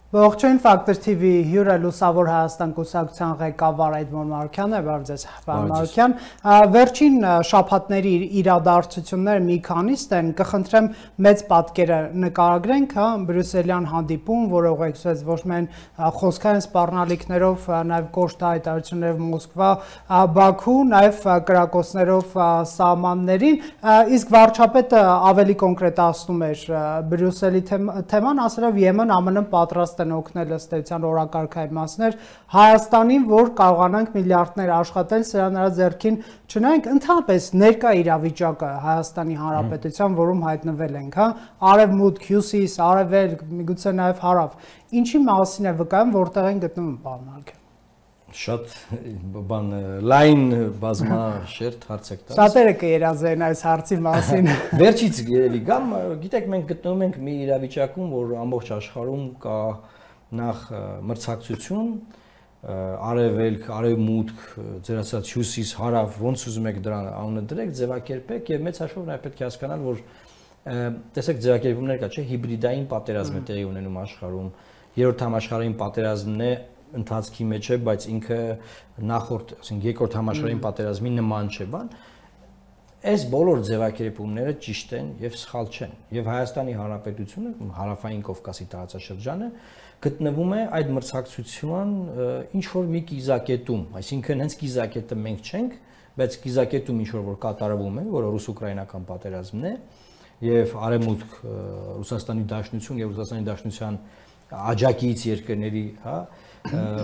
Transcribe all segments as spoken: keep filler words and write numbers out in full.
Ողջույն Ֆակտոր Թի Վի հյուրը Լուսավոր Հայաստան կուսակցության ղեկավար Էդմոն Մարուքյանն է, բարև ձեզ, պարոն Մարուքյան։ Վերջին շաբաթների իրադարձությունները մի քանիստ են, կխնդրեմ մեծ պատկերը նկարագրենք, հա, բրյուսելյան հանդիպում, որը ուղեկցվեց ոչ միայն խոսքային սպառնալիքներով, նաև կոշտ հայտարարություններով Մոսկվա, Բաքու, նաև կրակոցներով սահմաններին, իսկ վարչապետը ավելի կոնկրետացնում էր Բրյուսելի թեման, ասելով Եմեն ԱՄՆ-ն պատրաստ են օգնել ըստ էության օրակարգային մասներ Հայաստանին, որ կարողանանք միլիարդներ աշխատել, սրա նրա ձեռքին չնայենք ընդհանրապես ներկա իրավիճակը Հայաստանի Հանրապետության, որում հայտնվել ենք, հա, արևմուտք, հյուսիս, արևելք, միգուցե նաև հարավ, ինչի մասին է վկայում, որտեղ են գտնվում, պարոն Մարուքյան։ Շատ բան լայն բազմաշերտ հարց եք տալիս։ Շատերը կերազեն այս հարցի մասին։ Վերջից երևի գամ, գիտեք, մենք գտնվում ենք մի իրավիճակում, որ ամբողջ աշխարհում կա նախ մրցակցություն, արևելք, արևմուտք, ձեր ասած հյուսիս, հարավ, ոնց ուզում եք դրան անունը դրեք, ձևակերպեք եւ մեծ հաշվով նաև պետք է հասկանալ, որ տեսեք ձևակերպումներ կա, չէ՞, հիբրիդային պատերազմ է տեղի ունենում աշխարհում, երրորդ համաշխարհային պատերազմն է ընթացքի մեջ է, բայց ինքը նախորդ, ասենք երկրորդ համաշխարհային պատերազմի նման չէ, բան։ Այս բոլոր ձևակերպումները ճիշտ են եւ սխալ չեն։ Եվ Հայաստանի Հանրապետությունը, Հարավային Կովկասի տարածաշրջանը գտնվում է այդ մրցակցության ինչ որ մի կիզակետում, այսինքն հենց կիզակետը մենք չենք, բայց կիզակետում ինչ որ կատարվում է, որը ռուս-ուկրաինական պատերազմն է, եւ արևմուտք Ռուսաստանի Դաշնություն եւ Ռուսաստանի Դաշնության աջակից երկրների, հա,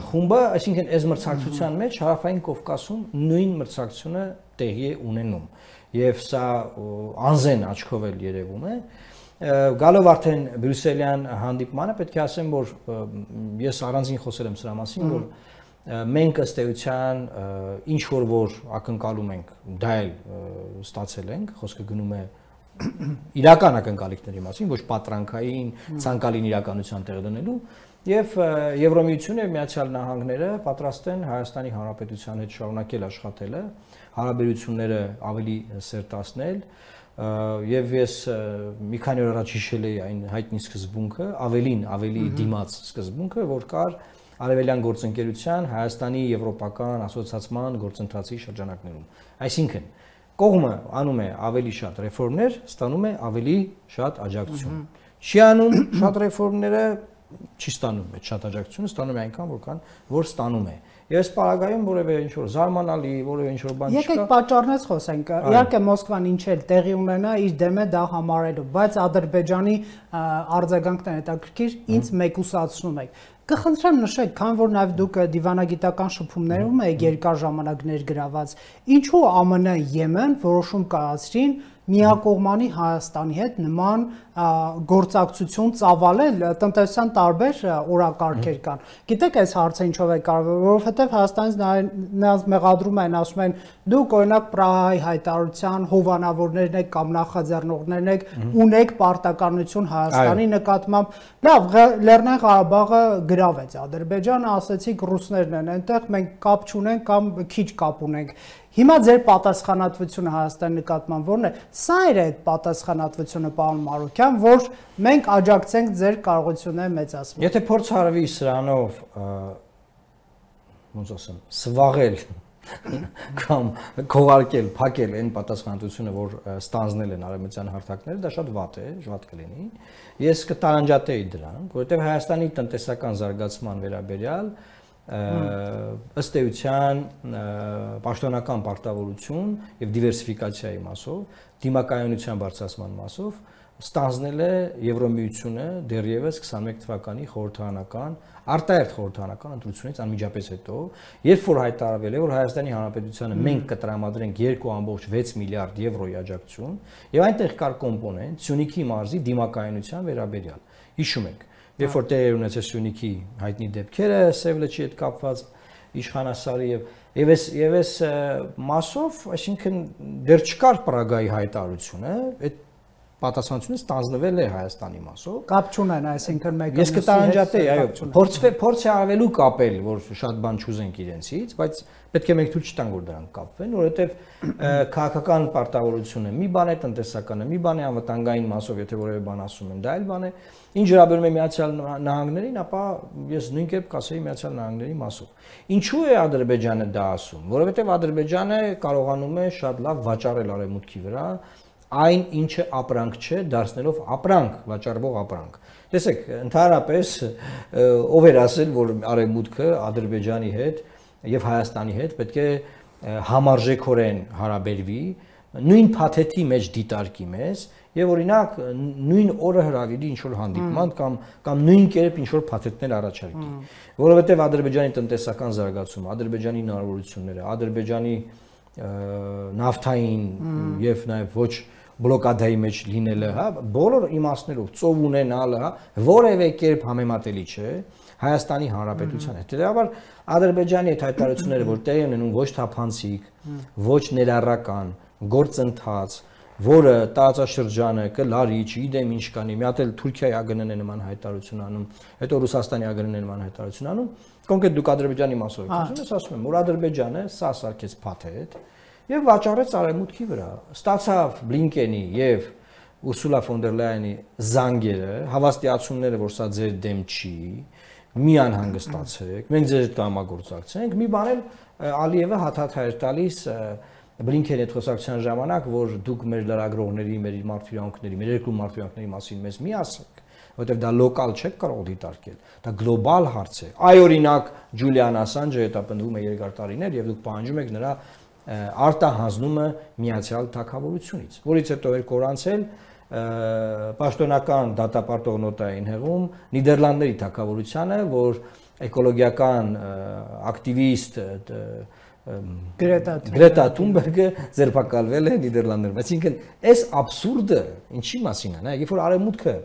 խումբը, այսինքն այս մրցակցության մեջ Հարավային Կովկասում նույն մրցակցությունը տեղի է ունենում եւ սա անզեն աչքով էլ երևում է։ Գալով արդեն բրյուսելյան հանդիպմանը պետք է ասեմ, որ ես առանձին խոսել եմ սրա մասին, որ մենք ըստ էության ինչ որ որ ակնկալում ենք, դա էլ ստացել ենք, խոսքը գնում է իրական ակնկալիքների մասին, ոչ պատրանքային, ցանկալին իրականության տեղ դնելու, եւ Եվրոմիությունը եւ Միացյալ Նահանգները պատրաստ են Հայաստանի Հանրապետության հետ շարունակել աշխատելը, հարաբերությունները ավելի սերտացնել, եւ ես մի քանի օր առաջ հիշել էի այն հայտնի սկզբունքը, ավելին, ավելի դիմաց սկզբունքը, որ կար Արևելյան գործընկերության Հայաստանի եվրոպական ասոցիացիան գործընթացի շրջանակներում։ Այսինքն կողմը անում է ավելի շատ ռեֆորմներ, ստանում է ավելի շատ աջակցություն։ Չի անում շատ ռեֆորմները, չի ստանում այդ շատ աջակցությունը, ստանում է այնքան, որքան որ ստանում է։ Եվ այս պարագայում որևէ ինչ-որ զարմանալի, որևէ ինչ-որ բան չկա։ Եկեք պատճառներից խոսենք։ Իհարկե Մոսկվան ինչ էլ տեղի ունենա իր դեմ է դա համարելու, բայց Ադրբեջանի արձագանքն է հետաքրքիր, ինձ մեկուսացնում եք։ Կխնդրեմ նշեք, քանի որ նաև դուք դիվանագիտական շփումներում եք երկար ժամանակ ներգրաված, ինչու ԱՄՆ Եմեն որոշում կայացրին միակողմանի Հայաստանի հետ նման գործակցություն ծավալել, տնտեսության տարբեր օրակարգեր կան։ Գիտեք այս հարցը ինչով է կարևոր, որովհետև Հայաստանից նրանց մեղադրում են, ասում են դուք օրինակ Պրահայի հայտարարության հովանավորներն եք կամ նախաձեռնողներն եք, ունեք պարտականություն Հայաստանի նկատմամբ։ Լավ, Լեռնային Ղարաբաղը գրավեց Ադրբեջանը, ասեցիք ռուսներն են այնտեղ, մենք կապ չունենք կամ քիչ կապ ունենք։ Հիմա ձեր պատասխանատվությունը Հայաստանի նկատմամբ ո՞րն է։ Սա էր այդ պատասխանատվությունը, պարոն Մարուքյան, որ մենք աջակցենք ձեր կարողությունները մեծացման։ Եթե փորձ արվի սրանով, ոնց ասեմ, սվաղել կամ քողարկել, փակել այն պատասխանատվությունը, որ ստանձնել են արևմտյան հարթակները, դա շատ վատ է, շատ կլինի։ Ես կտարանջատեի դրան, որովհետև Հայաստանի տնտեսական զարգացման վերաբերյալ ըստ էության պաշտոնական պարտավորություն եւ դիվերսիֆիկացիայի մասով, դիմակայունության բարձրացման մասով ստանձնել է Եվրոմիությունը դեռևս քսաներեք թվականի խորհրդարանական արտահերթ խորհրդարանական ընտրությունից անմիջապես հետո, երբ որ հայտարարվել է, որ Հայաստանի Հանրապետությանը մենք կտրամադրենք երկու կόμma վեց միլիարդ եվրոյի աջակցություն, եւ այնտեղ կար կոմպոնենտ Սյունիքի մարզի դիմակայունության վերաբերյալ։ Հիշում եք, երբ որ տեղի ունեցել Սյունիքի հայտնի դեպքերը, Սևլեչի հետ կապված իշխանասարի եւ եւ այս եւ այս մասով, այսինքն դեռ չկար Պրագայի հայտարարությունը, այդ պատասխանատվությունը ստանձնվել է Հայաստանի մասով։ Կապ չունեն, այսինքն մեկը ես կտանջատեի, այո, փորձ փորձ է արվելու կապել, որ շատ բան չուզենք իրենցից, բայց պետք է մենք թույլ չտանք, որ դրանք կապվեն, որովհետև քաղաքական պարտավորությունը մի բան է, տնտեսականը մի բան է, անվտանգային մասով, եթե որևէ բան ասում են, դա այլ բան է։ Ինչ վերաբերում է Միացյալ Նահանգներին, ապա ես նույն կերպ կասեի Միացյալ Նահանգների մասով։ Ինչու է Ադրբեջանը դա ասում, որովհետև Ադրբեջանը կարողանում է շատ լավ վաճառել արևմուտքի վրա այն ինչը ապրանք չէ, դարձնելով ապրանք, վաճառվող ապրանք։ Տեսեք, ընդհանրապես ով էր ասել, որ արևմուտքը Ադրբեջանի հետ եւ Հայաստանի հետ պետք է համարժեքորեն հարաբերվի, նույն փաթեթի մեջ դիտարկի մեզ եւ օրինակ նույն օրը հրավիրի ինչ որ հանդիպման կամ կամ նույն կերպ ինչ որ փաթեթներ առաջարկի, որովհետեւ Ադրբեջանի տնտեսական զարգացումը, Ադրբեջանի հնարավորությունները, Ադրբեջանի նավթային եւ նաեւ ոչ բլոկադայի մեջ լինելը, հա, բոլոր իմաստներով ծով ունենալը, հա, որևէ կերպ համեմատելի չէ Հայաստանի Հանրապետության հետ։ Հետևաբար Ադրբեջանի այդ հայտարարությունները, որ տեղի ունենում ոչ թափանցիկ, ոչ ներառական գործընթաց, որը տարածաշրջանը կլարի, չգիտեմ ինչ կանի, մի հատ էլ Թուրքիայի ԱԳՆ-ն է նման հայտարարություն անում, հետո Ռուսաստանի ԱԳՆ-ն է նման հայտարարություն անում, կոնկրետ դուք Ադրբեջանի մասով եք ասում, ես ասում եմ, որ Ադրբեջանը սա սարքեց փաթեթ եւ վաճառեց արևմուտքի վրա, ստացավ Բլինկենի եւ Ուրսուլա ֆոն դեր Լայենի զանգերը, հավաստիացումները, որ սա ձեր դեմ չի, մի անհանգստացեք, մենք ձեր հետ կհամագործակցենք, մի բան էլ Ալիևը հաթաթ հայր տալիս Բլինքենի հետ խոսակցության ժամանակ, որ դուք մեր լրագրողների, մեր մարդուրանքների, մեր երկու մարդուրանքների մասին մեզ մի ասեք, որովհետև դա լոկալ չեք կարող դիտարկել, դա գլոբալ հարց է։ Այ օրինակ Ջուլիան Ասանջը հետապնդվում է երկար տարիներ եւ դուք պահանջում եք նրա արտահանձնումը Միացյալ Թագավորությունից, որից հետո էր կորանցել պաշտոնական դատապարտող նոտային հեղում Նիդերլանդների թագավորությանը, որ էկոլոգիական ակտիվիստ Գրետա Թունբերգը ձերբակալվել է Նիդերլանդներում։ Այսինքն, այս աբսուրդը ինչի մասին է, նայեք, երբ որ արևմուտքը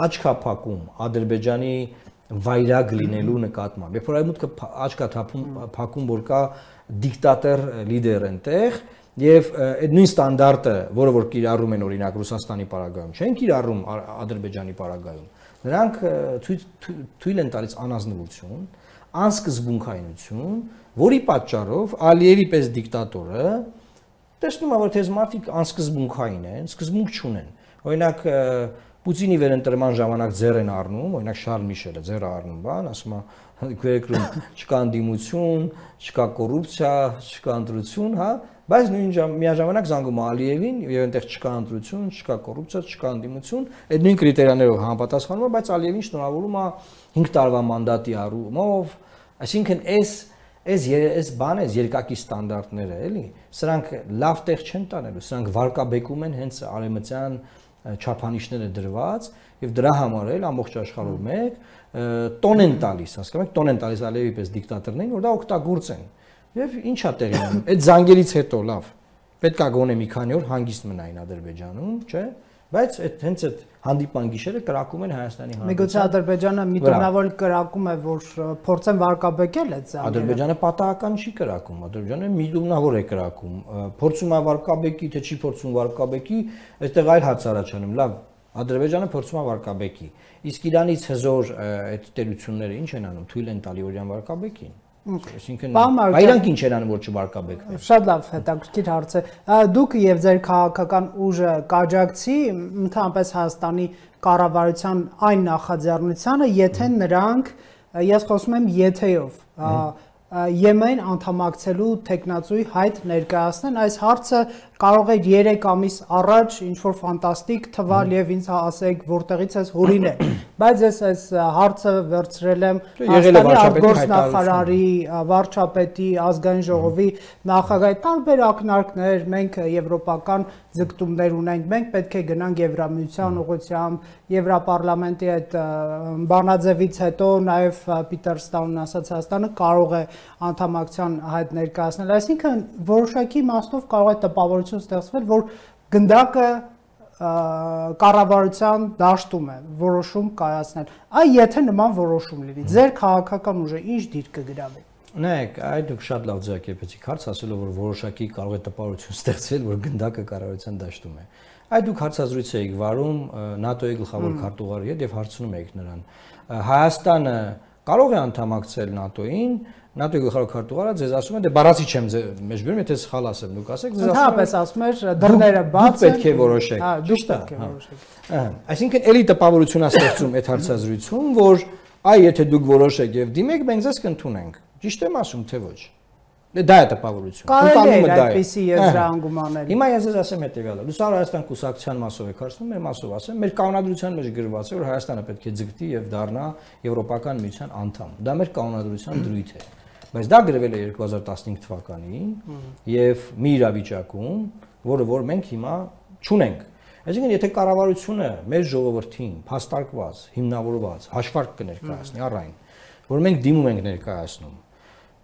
աչքա փակում Ադրբեջանի վայրագ լինելու նկատմամբ, երբ որ արևմուտքը աչքա փակում, որ կա դիկտատոր լիդեր այնտեղ, եւ այդ նույն ստանդարտը, որը որ կիրառում են օրինակ Ռուսաստանի պարագայում, չեն կիրառում Ադրբեջանի պարագայում, նրանք թույլ են տալիս անազնվություն, անսկզբունքայնություն, որի պատճառով Ալիևի պես դիկտատորը տեսնում է, որ թեզ մարդիկ անսկզբունքային են, սկզբունք չունեն։ Օրինակ Պուտինի վերընտրման ժամանակ ձեռ են առնում, օրինակ Շարլ Միշելը ձեռ առնում, բան, ասում է, երկրում չկա ընդդիմություն, չկա կոռուպցիա, չկա ընտրություն, հա, բայց նույն միաժամանակ զանգում է Ալիևին եւ այնտեղ չկա ընտրություն, չկա կոռուպցիա, չկա ընդդիմություն, այդ նույն կրիտերիաներով համապատասխանում է, բայց Ալիևին շնորհավորում է հինգ տարվա մանդատի առումով, այսինքն այս այս այս բանը, այս երկակի ստանդարտները, էլի, սրանք լավ տեղ չեն տանելու, սրանք վարկաբեկում են հենց արևմտյան չափանիշները դրված եւ դրա համար էլ ամբողջ աշխարհում մեկ տոն են տալիս, հասկանում եք, տոն են տալիս Ալիևի պես դիկտատորներին, որ դա օգտագործեն։ Եվ ինչա տեղի ունենում։ Այդ զանգերից հետո լավ։ Պետք է գոնե մի քանի օր հանգիստ մնային Ադրբեջանում, չէ՞։ Բայց այդ հենց այդ հանդիպան գիշերը կրակում են Հայաստանի Հանրապետության։ Միգուցե Ադրբեջանը միտոնավոր կրակում է, որ փորձեն վարկաբեկել այդ զանգերը։ Ադրբեջանը պատահական չի կրակում, Ադրբեջանը միտոնավոր է կրակում։ Փորձում է վարկաբեկի, թե չի փորձում վարկաբեկի, այստեղ այլ հարց առաջանում։ Լավ, Ադրբեջանը փորձում է վարկաբեկի։ Իսկ Իրանից հզոր այդ տերությունները ինչ են անում, թույլ են տալի օրյան վարկաբեկին։ Այսինքն այրանք ինչ են անում, որ չվարկաբեկվեն։ Շատ լավ, հետաքրքիր հարց է։ Դուք եւ ձեր քաղաքական ուժը կաջակցի ընդհանրապես Հայաստանի կառավարության այն նախաձեռնությանը, եթե նրանք, ես խոսում եմ եթեով, Եմեն անդամակցելու տեխնացուի հայտ ներկայացնեն, այս հարցը կարող է երեք ամիս առաջ ինչ-որ ֆանտաստիկ թվալ եւ ինձ ասեք որտեղից ես հորինել, բայց ես այս հարցը վերցրել եմ Հայաստանի արտգործնախարարի, վարչապետի, ազգային ժողովի նախագահի տարբեր ակնարկներ, մենք եվրոպական ձգտումներ ունենք, մենք պետք է գնանք Եվրամիության ուղղությամբ, Եվրապարլամենտի այդ բանաձևից հետո նաեւ Պիտեր Ստաունն ասաց Հայաստանը կարող է անդամակցության հայտ ներկայացնել, այսինքն որոշակի իմաստով կարող է տպավորություն ստեղծվել, որ գնդակը կառավարության դաշտում է որոշում կայացնել։ Այ եթե նման որոշում լինի, ձեր քաղաքական ուժը ինչ դիր կգրավի։ Նայեք, այդ դուք շատ լավ ձեռքերպեցիք հարց, ասելով որ որոշակի կարող է տպավորություն ստեղծվել, որ գնդակը կառավարության դաշտում է։ Այդ դուք հարցազրույց եք վարում ՆԱՏՕ-ի գլխավոր քարտուղարի հետ եւ հարցնում եք նրան Հայաստանը կարող է անդամակցել ՆԱՏՕ-ին ՆԱՏՕ-ի գլխավոր քարտուղարը ձեզ ասում է դե բառացի չեմ մեջ բերում եթե սխալ ասեմ դուք ասեք ձեզ ասում է ասում էր դռները բաց են դուք պետք է որոշեք հա դուք պետք է որոշեք ահա այսինքն էլի տպավորություն է ստեղծում այդ հարցազրույցում որ այ եթե դուք որոշեք եւ դիմեք մենք ձեզ կընդունենք ճիշտ եմ ասում թե ոչ դա է տպավորությունը կարելի է այդպիսի եզրահանգում անել հիմա ես ձեզ ասեմ հետեւյալը Լուսավոր Հայաստան կուսակցության մասով եք հարցնում մեր մասով ասեմ մեր կանոնադրության մեջ գրված է որ Հայաստանը պետք է ձգտի եւ դառնա Եվրոպական միության անդամ դա մեր կանոնադրության դրույթ է բայց դա գրվել է երկու հազար տասնհինգ թվականին եւ մի իրավիճակում որը որ մենք հիմա չունենք այսինքն եթե կառավարությունը մեր ժողովրդին փաստարկված հիմնավորված հաշվարկ կներկայացնի առայն որ մենք դիմում ենք ներկայացնում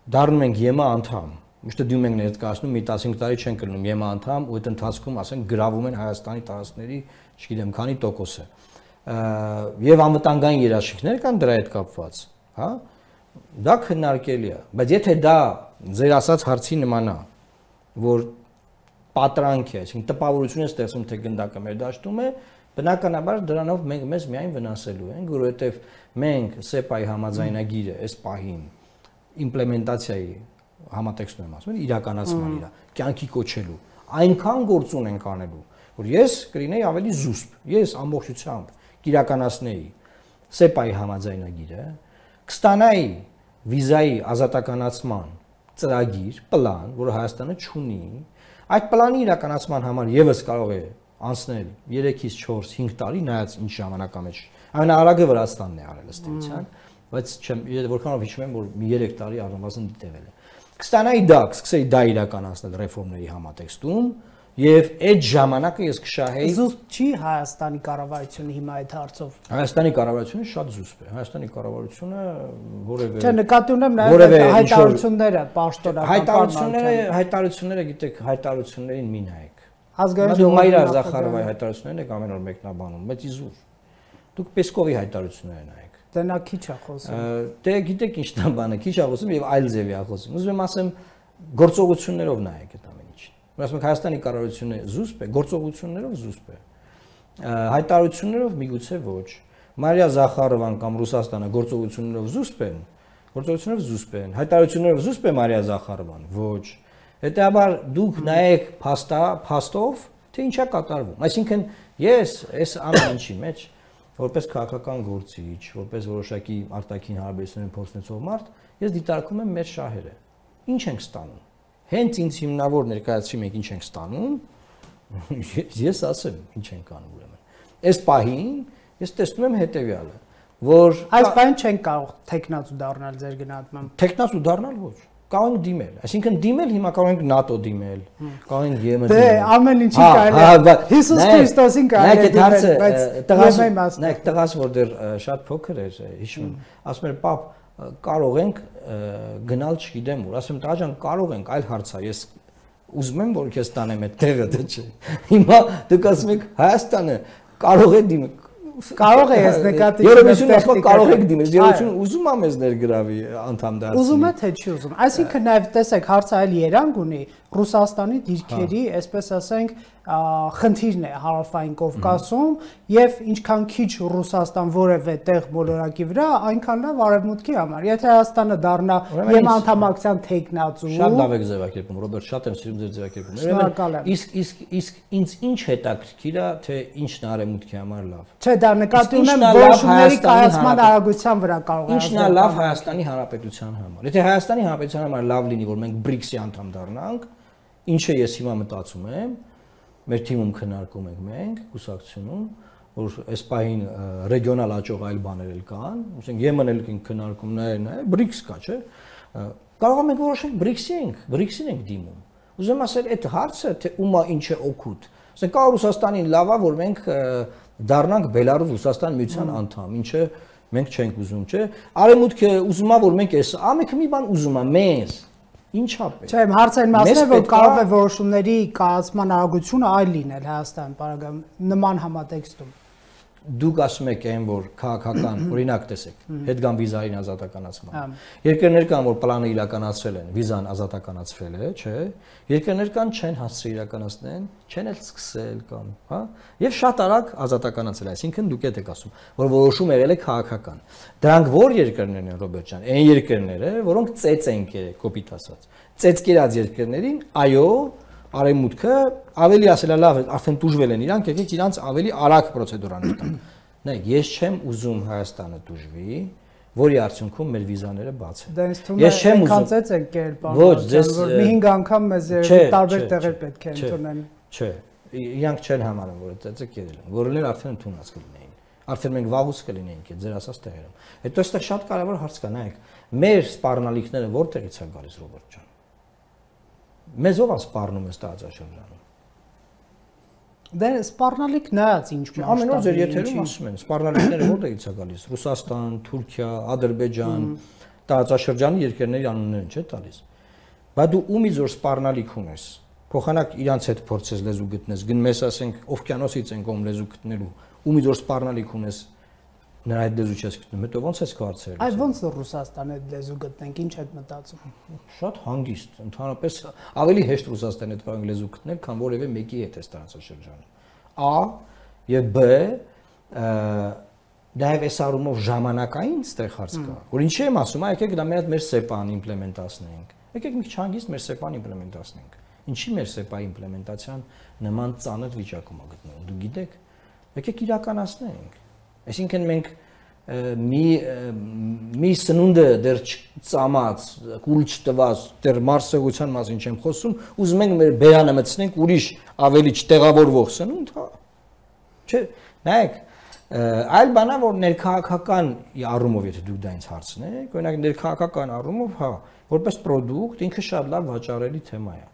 դառնում ենք ԵՄԱ անդամ, միշտ դիմում ենք ներկայացնում մի տասնհինգ տարի չեն կլինում ԵՄԱ անդամ ու այդ ընթացքում ասենք գրավում են Հայաստանի տարածքների, չգիտեմ, քանի տոկոսը։ Եվ անվտանգային երաշխիքներ կան դրա հետ կապված, հա? Դա քննարկելի է, բայց եթե դա ձեր ասած հարցի նման է, որ պատրանք է, այսինքն տպավորություն է ստեղծում թե գնդակը մեր դաշտում է, բնականաբար դրանով մենք մեզ միայն վնասելու ենք, որովհետև մենք սեպայի համաձայնագիրը այս պահին իմպլեմենտացիայի համատեքստում եմ ասում, իրականացման իրա, կյանքի կոչելու, այնքան գործուն ենք անելու, որ ես կլինեի ավելի զուսպ, ես ամբողջությամբ կիրականացնեի սեպայի համաձայնագիրը, կստանայի վիզայի ազատականացման ծրագիր, պլան, որը Հայաստանը չունի, այդ պլանի իրականացման համար եւս կարող է անցնել երեքից չորս հինգ տարի, նայած ինչ ժամանակամեջ, ամենաարագը Վրաստանն է արել ըստ էության, բայց չեմ որքանով հիշում եմ որ մի երեք տարի առնվազն դիտվել է կստանայի դա կսկսեի դա իրականացնել ռեֆորմների համատեքստում եւ այդ ժամանակը ես կշահեի զուսպ չի Հայաստանի կառավարությունը հիմա այդ հարցով Հայաստանի կառավարությունը շատ զուսպ է Հայաստանի կառավարությունը որևէ չէ նկատի ունեմ նաեւ հայտարարությունները պաշտոնական հայտարարությունները հայտարարությունները գիտեք հայտարարություններին մի նայեք ազգային ժողովի Զախարովայի հայտարարություններն եք ամեն օր մեկնաբանում բայց իզուր դուք Պեսկովի հայտարարությունները նայեք Դե նա քիչ է խոսում։ Դե գիտեք ինչն է բանը, քիչ է խոսում եւ այլ ձևի է խոսում։ Ուզում եմ ասեմ գործողություններով նայեք այդ ամեն ինչին։ Որ ասում եք Հայաստանի կառավարությունը զուսպ է, գործողություններով զուսպ է։ Հայտարարություններով միգուցե ոչ։ Մարիա Զախարովան կամ Ռուսաստանը գործողություններով զուսպ են, գործողություններով զուսպ են։ Հայտարարություններով զուսպ է Մարիա Զախարովան, ոչ։ Հետեւաբար դուք նայեք փաստա, փաստով, թե ինչ է կատարվում։ Այսինքն ես այս ամեն ինչի մեջ որպես քաղաքական գործիչ, որպես որոշակի արտաքին հարաբերությունների փոխնեցող մարդ, ես դիտարկում եմ մեր շահերը։ Ինչ ենք ստանում։ Հենց ինձ հիմնավոր ներկայացրի մենք ինչ ենք ստանում, ես ասեմ, ինչ ենք անում ուրեմն։ Այս պահին ես տեսնում եմ հետեւյալը, որ այս պահին չենք կարող տեխնացու դառնալ ձեր գնահատմամբ։ Տեխնացու դառնալ ոչ։ Կարող ենք դիմել, այսինքն դիմել հիմա կարող ենք ՆԱՏՕ դիմել, կարող ենք ԵՄ դիմել։ Դե ամեն ինչի կարելի է։ Հիսուս Քրիստոսին կարելի է դիմել, բայց տղաս, նայեք, տղաս որ դեռ շատ փոքր էր, հիշում եմ, ասում էր պապ, կարող ենք գնալ, չգիտեմ ուր, ասում եմ տղա ջան, կարող ենք, այլ հարց է, ես ուզում եմ որ քեզ տանեմ այդ տեղը, դե չէ։ Հիմա դուք ասում եք Հայաստանը կարող է դիմել Կարող է ես նկատի Երևություն ասում կարող եք դիմել, երևություն ուզում եմ ես ներգրավի անդամ դարձնել։ Ուզում է թե չի ուզում։ Այսինքն նաև տեսեք հարցը այլ երանգ ունի Ռուսաստանի դիրքերի, այսպես ասենք, խնդիրն է Հարավային Կովկասում եւ ինչքան քիչ Ռուսաստան որևէ տեղ մոլորակի վրա, այնքան լավ արևմուտքի համար։ Եթե Հայաստանը դառնա ԵՄ անդամակցության տեխնացու։ Շատ լավ եք ձևակերպում, Ռոբերտ, շատ եմ սիրում ձեր ձևակերպումը։ Իսկ իսկ իսկ ինձ ինչ հետաքրքիր է, թե ինչն է արևմուտքի համար լավ։ Չէ, դա նկատի ունեմ որոշումների կայացման արագության վրա կարող է։ Ինչն է լավ Հայաստանի Հանրապետության համար։ Եթե Հայաստանի Հանրապետության համար լավ լինի, որ մենք բրիքսի անդամ դառնանք, ինչը ես հիմա մտածում եմ, մեր թիմում քննարկում ենք մենք կուսակցությունում, որ այս պահին ռեգիոնալ աճող այլ բաներ էլ կան, ասենք ԵՄ-ն էլ քննարկում նայել, նայել, բրիքս կա, չէ։ Կարող ենք որոշենք բրիքսի ենք, բրիքսին ենք դիմում։ Ուզում ասել, այդ հարցը թե ումա ինչ է օգուտ։ Ասենք կա Ռուսաստանին լավ է, որ մենք դառնանք Բելարուս Ռուսաստան միության անդամ, ինչը մենք չենք ուզում, չէ։ Արևմուտքը ուզում է, որ մենք այս ամենը մի բան ուզում է մեզ։ Ինչա՞ պետք։ Չէ, հարցը այն մասն է, որ կարող է որոշումների կայացման արագությունը այլ լինել Հայաստան, բարակամ նման համատեքստում։ դուք ասում եք այն որ քաղաքական օրինակ տեսեք հետգամ վիզային ազատականացման երկրներ կան որ պլանը իրականացրել են վիզան ազատականացվել է չէ երկրներ կան չեն հասցրել իրականացնեն չեն էլ սկսել կամ հա եւ շատ արագ ազատականացել այսինքն դուք եք ասում որ որոշում եղել է քաղաքական դրանք որ երկրներն են Ռոբերտ ջան այն երկրները որոնք ծեծ են կոպիտ ասած ծեծ կերած երկրներին այո Արևմուտքը ավելի ասելա լավ արդեն տուժվել են իրանք եկեք իրանց ավելի արագ պրոցեդուրաներ տան նայեք ես չեմ ուզում Հայաստանը տուժվի որի արդյունքում մեր վիզաները բաց են ես չեմ ուզում ցած են կերպ ոչ ձեզ մի հինգ անգամ մեզ տարբեր տեղեր պետք է ընդունեն չէ իրանք չեն համարում որ ծեծը կերել են որոններ արդեն ընդունած կլինեին արդեն մենք վաղուց կլինեինք ձեր ասած տեղերում հետո այստեղ շատ կարևոր հարց կա նայեք մեր սպառնալիքները որտեղից են գալիս Ռոբերտ ջան Մեզ ով սպառնում է տարածաշրջանում։ Դե սպառնալիք նայած ինչ մասշտաբի։ Ամեն օր ձեր եթերում ասում են, սպառնալիքները որտեղից է գալիս։ Ռուսաստան, Թուրքիա, Ադրբեջան, տարածաշրջանի երկրների անուններն են, չէ՞ տալիս։ Բայց դու ումից որ սպառնալիք ունես, փոխանակ իրանց հետ փորձես լեզու գտնես, գնում ես ասենք օվկիանոսից են կողմ լեզու գտնելու, ումից որ սպառնալիք ունես, նրա այդ լեզու չես գտնում, հետո ո՞նց ես կարծել։ Այ ո՞նց որ Ռուսաստանի հետ լեզու գտնենք, ինչ եք մտածում։ Շատ հանգիստ, ընդհանրապես ավելի հեշտ Ռուսաստանի հետ կարող լեզու գտնել, քան որևէ մեկի հետ էս տարածաշրջանում։ A եւ B դայվ էս առումով ժամանակային ստեղ հարց կա, որ ինչի եմ ասում, եկեք դա մեր մեր սեպան իմպլեմենտացնենք։ Եկեք մի քիչ հանգիստ մեր սեպան իմպլեմենտացնենք։ Ինչի մեր սեպայի իմպլեմենտացիան նման ծանր վիճակում է գտնվում, դու գիտեք։ Եկեք իրականացնենք։ Այսինքն մենք մի մի սնունդը դեռ ծամած, կուլ չտված, դեռ մարսեղության մասին չեմ խոսում, ուզում ենք մեր բերանը մտցնենք ուրիշ ավելի չտեղավորվող սնունդ, հա։ Չէ, նայեք, այլ բան է որ ներքաղաքական առումով եթե դուք դա ինձ հարցնեք, օրինակ ներքաղաքական առումով, հա, որպես պրոդուկտ ինքը շատ լավ վաճառելի թեմա է։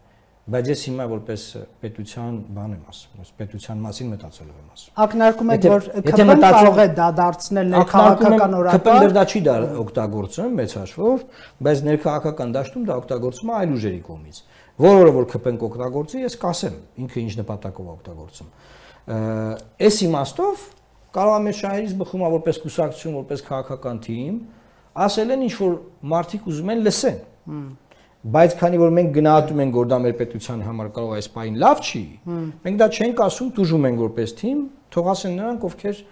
Բայց ես հիմա որպես պետության բան եմ ասում, ես պետության մասին մտածելով եմ ասում։ Ակնարկում եք որ ԿՊ-ն կարող է դա դարձնել ներքաղաքական օրակարգ։ ԿՊ-ն դա չի դա օգտագործում մեծ հաշվով, բայց ներքաղաքական դաշտում դա օգտագործում է այլ ուժերի կողմից։ Որը որ ԿՊ-ն կօգտագործի, ես կասեմ, ինքը ինչ նպատակով է օգտագործում։ Այս իմաստով կարող է մեր շահերից բխում է որպես կուսակցություն, որպես քաղաքական թիմ, ասել են ինչ որ մարդիկ ուզում են լսեն։ Բայց քանի որ մենք գնահատում ենք որ դա մեր պետության համար կարող է այս պահին լավ չի, մենք դա չենք ասում, տուժում ենք որպես թիմ, թող ասեն նրանք, ովքեր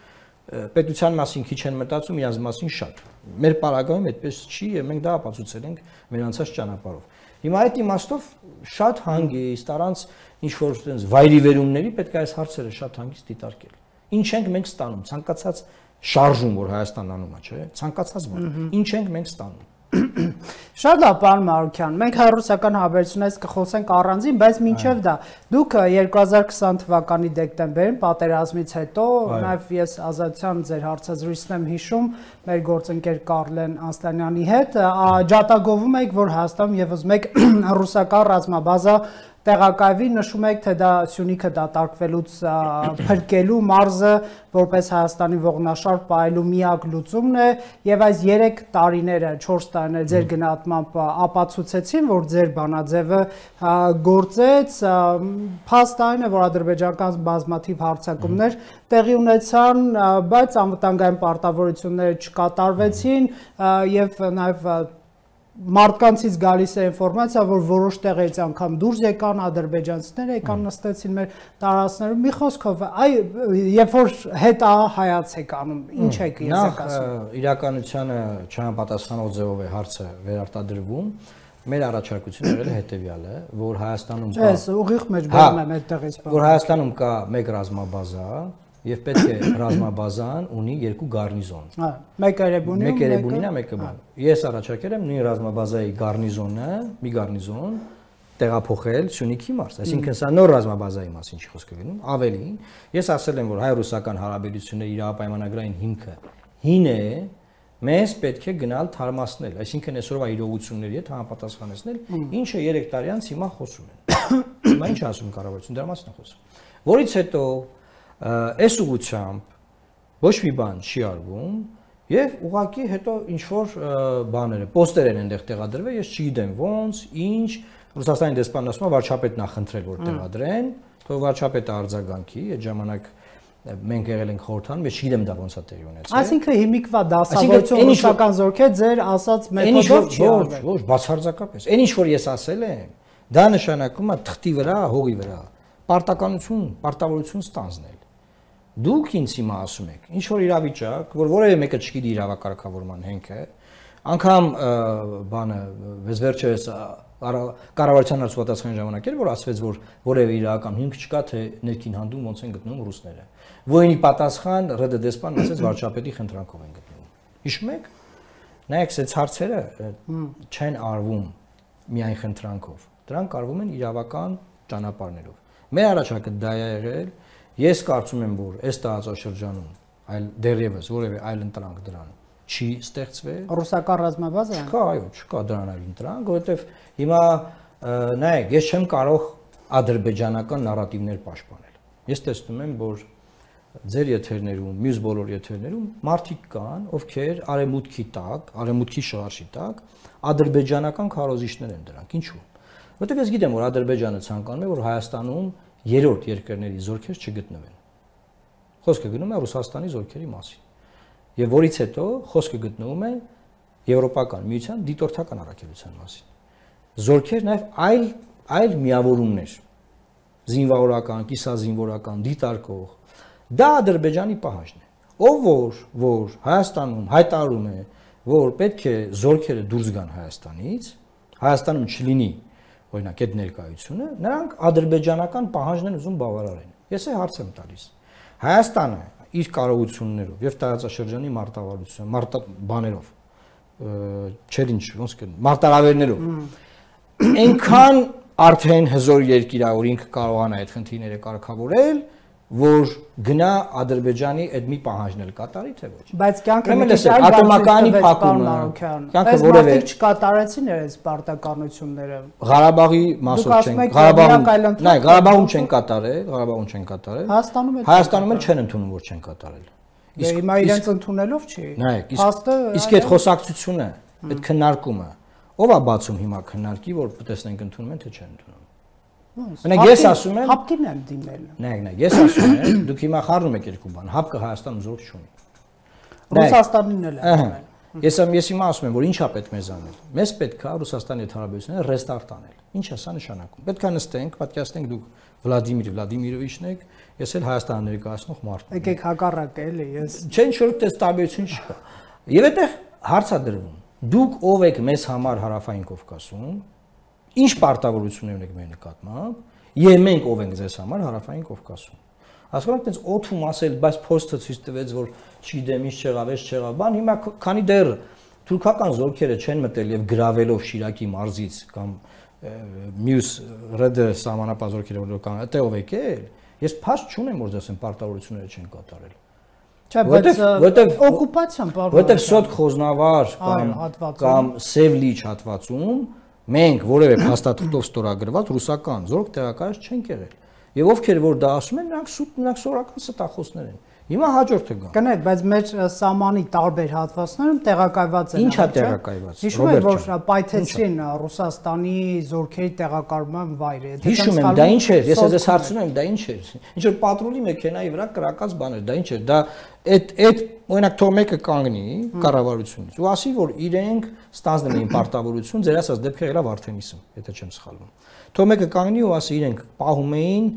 պետության մասին քիչ են մտածում, իրանց մասին շատ։ Մեր պարագայում այդպես չի եւ մենք դա ապացուցել ենք մեր անցած ճանապարհով։ Հիմա այդ իմաստով շատ հանգիստ առանց ինչ որ այդպես վայրիվերումների պետք է այս հարցերը շատ հանգիստ դիտարկել։ Ինչ ենք մենք ստանում, ցանկացած շարժում որ Հայաստանն անում է, չէ՞, ցանկացած բան։ Ինչ ենք մենք ստանում։ Շատ լավ, պարոն Մարուկյան, մենք հայ-ռուսական հարաբերություններից կխոսենք առանձին, բայց մինչև դա դուք երկու հազար քսան թվականի դեկտեմբերին պատերազմից հետո, նաև ես Ազատության ձեր հարցազրույցն եմ հիշում, մեր գործընկեր Կարլեն Անստանյանի հետ, ջատագովում եք, որ Հայաստանում եւս մեկ ռուսական ռազմաբազա տեղակայվի, նշում եք, թե դա Սյունիքը դատարկվելուց փրկելու մարզը որպես Հայաստանի ողնաշար պահելու միակ լուծումն է եւ այս երեք տարիները, չորս տարիները ձեր գնահատմամբ ապացուցեցին, որ ձեր բանաձևը գործեց, փաստ այն է, որ ադրբեջանական բազմաթիվ հարձակումներ տեղի ունեցան, բայց անվտանգային պարտավորությունները չկատարվեցին եւ նաեւ մարդկանցից գալիս է ինֆորմացիա, որ որոշ տեղերից անգամ դուրս եկան ադրբեջանցիները, եկան նստեցին մեր տարածքներում։ Մի խոսքով, այ երբ որ հետա հայաց եք անում, ինչ եք ես եք ասում։ Նախ իրականությանը չհամապատասխանող ձևով է հարցը վերարտադրվում։ Մեր առաջարկությունը եղել է հետեւյալը, որ Հայաստանում կա Ես ուղիղ մեջ բերում եմ այդտեղից բան։ Որ Հայաստանում կա մեկ ռազմաբազա եւ պետք է ռազմաբազան ունի երկու գարնիզոն։ Հա, մեկ Էրեբունի, մեկ Էրեբունին է, մեկը բան։ Ես առաջարկել եմ նույն ռազմաբազայի գարնիզոնը, մի գարնիզոն տեղափոխել Սյունիքի մարզ, այսինքն սա նոր ռազմաբազայի մասին չի խոսքը գնում, ավելին, ես ասել եմ, որ հայ-ռուսական հարաբերությունների իրավապայմանագրային հիմքը հին է, մեզ պետք է գնալ թարմացնել, այսինքն այսօրվա իրողությունների հետ համապատասխանեցնել, ինչը երեք տարի անց հիմա խոսում են։ Հիմա ինչ ասում կառավարությունը, դրա մասին է խոսում։ Որից հետո այս ուղղությամբ ոչ մի բան չի արվում եւ ուղղակի հետո ինչ որ բաներ են, պոստեր են այնտեղ տեղադրվել, ես չգիտեմ ոնց, ինչ, Ռուսաստանի դեսպանն ասում է վարչապետն է խնդրել որ տեղադրեն, թող վարչապետը արձագանքի, այդ ժամանակ մենք եղել ենք խորհրդանում, ես չգիտեմ դա ոնց է տեղի ունեցել։ Այսինքն հիմիկվա դասավորություն ռուսական զորքեր ձեր ասած մեթոդով չի արվել։ Ոչ, բացարձակապես։ Այն ինչ որ ես ասել եմ, դա նշանակում է թղթի վրա, հողի վրա պարտականություն, պարտավորություն ստանձնել։ Դուք ինձ հիմա ասում եք, ինչ որ իրավիճակ, որ որևէ մեկը չգիտի իրավակարգավորման հենքը, անգամ բանը վեց վերջերս կառավարության հարցուատասխանի ժամանակ էր, որ ասվեց, որ որևէ իրական հիմք չկա, թե ներքին հանդում ոնց են գտնում ռուսները։ Որի պատասխան ՌԴ դեսպանն ասեց վարչապետի խնդրանքով են գտնում։ Հիշում եք։ Նայեք, այս հարցերը չեն արվում միայն խնդրանքով։ Դրանք արվում են իրավական ճանապարհներով։ Մեր առաջարկը դա է եղել։ Ես կարծում եմ, որ այս տարածաշրջանում այլ դեռևս որևէ այլ ընտրանք դրան չի ստեղծվել։ Ռուսական ռազմաբազա։ Չկա, այո, չկա դրան այլ ընտրանք, որովհետև հիմա նայեք, ես չեմ կարող ադրբեջանական նարատիվներ պաշտպանել։ Ես տեսնում եմ, որ ձեր եթերներում, մյուս բոլոր եթերներում մարդիկ կան, ովքեր արևմուտքի տակ, արևմուտքի շարժի տակ ադրբեջանական քարոզիչներ են դրանք։ Ինչու՞։ Որտեղ ես գիտեմ, որ Ադրբեջանը ցանկանում է, որ Հայաստանում երրորդ երկրների զորքեր չգտնվեն։ Խոսքը գնում է Ռուսաստանի զորքերի մասին։ Եվ որից հետո խոսքը գտնվում է Եվրոպական միության դիտորդական առաքելության մասին։ Զորքեր նաև այլ այլ միավորումներ, զինվորական, կիսազինվորական, դիտարկող, դա Ադրբեջանի պահանջն է։ Ով որ որ Հայաստանում հայտարարում է, որ պետք է զորքերը դուրս գան Հայաստանից, Հայաստանում չլինի օրինակ այդ ներկայությունը, նրանք ադրբեջանական պահանջն են ուզում բավարարեն։ Ես է հարց եմ տալիս։ Հայաստանը իր կարողություններով եւ տարածաշրջանի մարտավարությամբ, մարտա բաներով, չեր ինչ, ոնց կն, մարտահրավերներով այնքան արդեն հզոր երկիր է, որ ինքը կարողանա այդ խնդիրները կարգավորել, որ գնա Ադրբեջանի այդ մի պահանջն էլ կատարի թե ոչ։ Բայց կյանքը մի քիչ ատոմականի փակումը, կյանքը որևէ չկատարեցին այս պարտականությունները։ Ғարաբաղի մասով չեն, Ղարաբաղում, նայ, Ղարաբաղում չեն կատարել, Ղարաբաղում չեն կատարել։ Հայաստանում էլ չեն ընդունում, որ չեն կատարել։ Իսկ հիմա իրենց ընդունելով չի։ Նայեք, իսկ այդ խոսակցությունը, այդ քննարկումը, ով է բացում հիմա քննարկի, որ տեսնենք ընդունում են թե չեն ընդունում։ Մենակ ես ասում եմ, հապկին եմ դիմել։ Նայեք, նայեք, ես ասում եմ, դուք հիմա խառնում եք երկու բան, հապկը Հայաստանում զորք չունի։ Ռուսաստանին էլ է։ Ես ես հիմա ասում եմ, որ ինչա պետք մեզ անել։ Մեզ պետք է Ռուսաստանի հետ հարաբերությունները ռեստարտ անել։ Ինչ է սա նշանակում։ Պետք է նստենք, պատկերացնենք դուք Վլադիմիր Վլադիմիրովիչն եք, ես էլ Հայաստանը ներկայացնող մարդ եմ։ Եկեք հակառակը էլի, ես։ Չէ, ինչ որ տես տարբերություն չկա։ Եվ այդտեղ հարց է դրվում։ Դուք ով եք մեզ համար Հարավային Կովկասում, ինչ պարտավորություններ ունեք մեր նկատմամբ, եւ մենք ով ենք ձեզ համար Հարավային Կովկասում։ Հասկանում եք, այդպես օթում ասել, բայց փոստը ցույց տվեց, որ չգիտեմ ինչ չեղավ, էս չեղավ, բան հիմա քանի դեռ թուրքական զորքերը չեն մտել եւ գրավելով Շիրակի մարզից կամ մյուս ՌԴ սահմանապահ զորքերը որ կան, այդտեղ ով եկել, ես փաստ չունեմ, որ դասեն պարտավորությունները չեն կատարել։ Չէ, բայց որտեվ օկուպացիան պարտավոր։ Որտեվ Սոտ Խոզնավար կամ կամ Սևլիչ հատվածում մենք որևէ փաստաթղթով ստորագրված ռուսական զորք տեղակայած չենք եղել։ Եվ ովքեր որ դա ասում են, նրանք սուտ, նրանք սորական ստախոսներ են։ Հիմա հաջորդը գա։ Կներեք, բայց մեր սահմանի տարբեր հատվածներում տեղակայված են։ Ինչ է տեղակայված։ Հիշում եք, որ պայթեցրին Ռուսաստանի զորքերի տեղակայման վայրը։ Հիշում եմ, դա ինչ էր, ես ես հարցնում եմ, դա ինչ էր։ Ինչ որ պատրոլի մեքենայի վրա կրակած բան էր, դա ինչ էր, դա այդ այդ օրինակ թող մեկը կանգնի կառավարությունից ու ասի, որ իրենք ստանձնել էին պարտավորություն, ձեր ասած դեպքը եղավ Արթեմիսում, եթե չեմ սխալվում։ Թող մեկը կանգնի ու ասի, իրենք պահում էին